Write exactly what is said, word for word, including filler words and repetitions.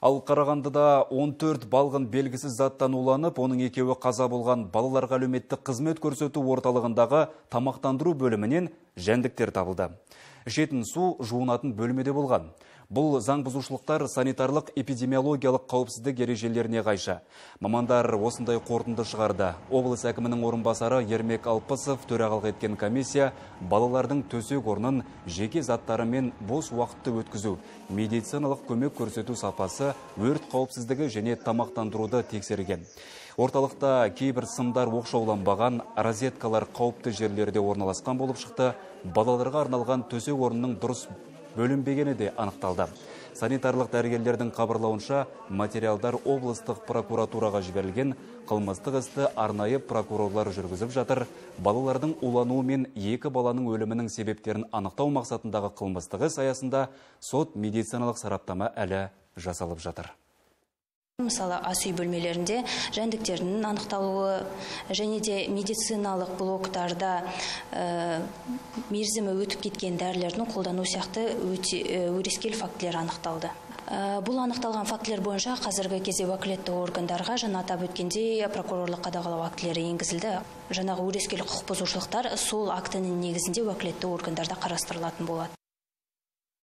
Ал Карагандыда он төрт балгын белгисиз заттан уланып, onun экеуі каза болгон балаларга әлеуметтик кызмет көрсөтүү орталыгындагы тамактандыруу бөлүмүнөн жәндиктер табылды. Ішетін су жуунатын бөлмеде болгон. Бұл заң бузушулуктар санитарлык эпидемиологиялык кауіпсіздік ережелеріне кайшы. Мамандар осындай қорытынды шығарды. Облыс әкімінің орынбасары Ермек Алпысов төрағалық еткен комиссия балалардың төсек орнын жеке заттары мен бос уақытты өткізу, медициналық көмек көрсету сапасы, өрт қауіпсіздігі және тамақтандыруды тексерген. Орталықта кейбір сымдар оқшауланбаған, розеткалар қауіпті жерлерде орналасқан болып шықты. Балаларға арналған төсек орнының дұрыс бөлінбегені де анықталды. Санитарлық дәрігерлердің хабарлауынша материалдар облыстық прокуратураға жіберілген, қылмыстық істі арнайы прокурорлар жүргізіп жатыр. Балалардың улануы мен екі баланың өлімінің себептерін анықтау мақсатындағы қылмыстық іс аясында сот медициналық сараптама әлі жасалып жатыр. Мысалы, ас үй бөлмелерінде жәндіктердің анықталуы және де медициналық блоктарда ә, мерзімі өтіп кеткен дәрілердің қолдану сияқты өрескел фактілер анықталды. Ә, бұл анықталған фактілер бойынша қазіргі кезде уәкілетті органдарға жаңа атап өткендей прокурорлық қадағалау актілері енгізілді. Жаңағы өрескел құқық бұзушылықтар сол актінің негізінде уәкілетті органдарда қарастырылатын болады.